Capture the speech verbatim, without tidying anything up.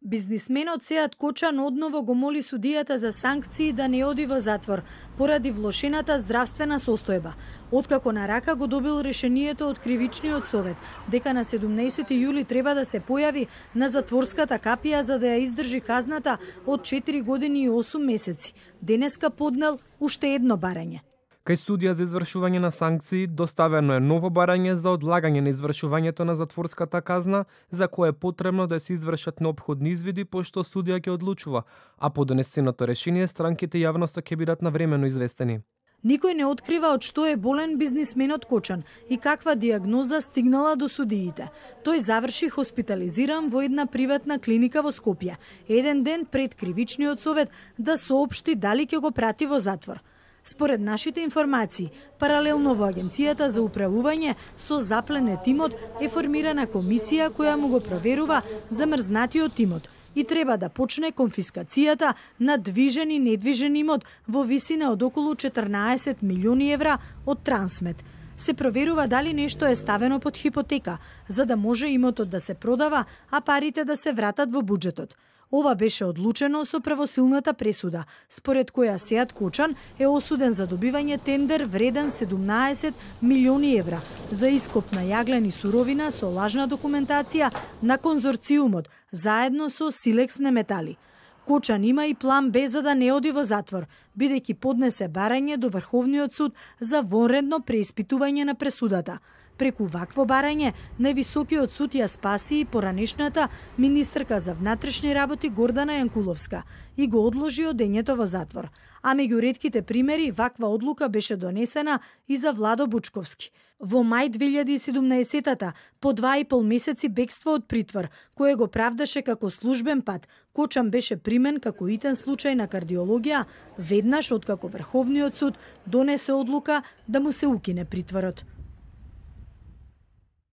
Бизнисменот Сеат Кочан одново го моли судијата за санкции да не оди во затвор поради влошената здравствена состојба. Откако на рака го добил решението од Кривичниот совет дека на седумнаесети јули треба да се појави на затворската капија за да ја издржи казната од четири години и осум месеци, денеска поднел уште едно барање. Кај студија за извршување на санкции доставено е ново барање за одлагање на извршувањето на затворската казна, за кое е потребно да се извршат неопходни извиди пошто судија ќе одлучува, а по донесеното решение странките и јавноста ќе бидат навремено известени. Никој не открива од што е болен бизнисменот Кочан и каква диагноза стигнала до судиите. Тој заврши хоспитализиран во една приватна клиника во Скопје, еден ден пред Кривичниот совет да соопшти дали ќе го прати во затвор. Според нашите информации, паралелно во Агенцијата за управување со запленет имот е формирана комисија која му го проверува замрзнатиот имот и треба да почне конфискацијата на движен и недвижен имот во висина од околу четрнаесет милиони евра од Трансмет. Се проверува дали нешто е ставено под хипотека, за да може имотот да се продава, а парите да се вратат во буџетот. Ова беше одлучено со правосилната пресуда, според која Сеат Кочан е осуден за добивање тендер вреден седумнаесет милиони евра за ископ на јаглен и суровина со лажна документација на конзорциумот заедно со Силекс Неметали. Кочан има и план Б за да не оди во затвор, бидејќи поднесе барање до Врховниот суд за вонредно преиспитување на пресудата. Преку вакво барање, највисокиот суд ја спаси и поранешната министерка за внатрешни работи Гордана Јанкуловска и го одложи одењето во затвор. А меѓу ретките примери, ваква одлука беше донесена и за Владо Бучковски. Во мај две илјади и седумнаесетата, по два и пол месеци бегство од притвор, кое го правдаше како службен пат, Кочан беше примен како итен случај на кардиологија, веднаш откако Врховниот суд донесе одлука да му се укине притворот.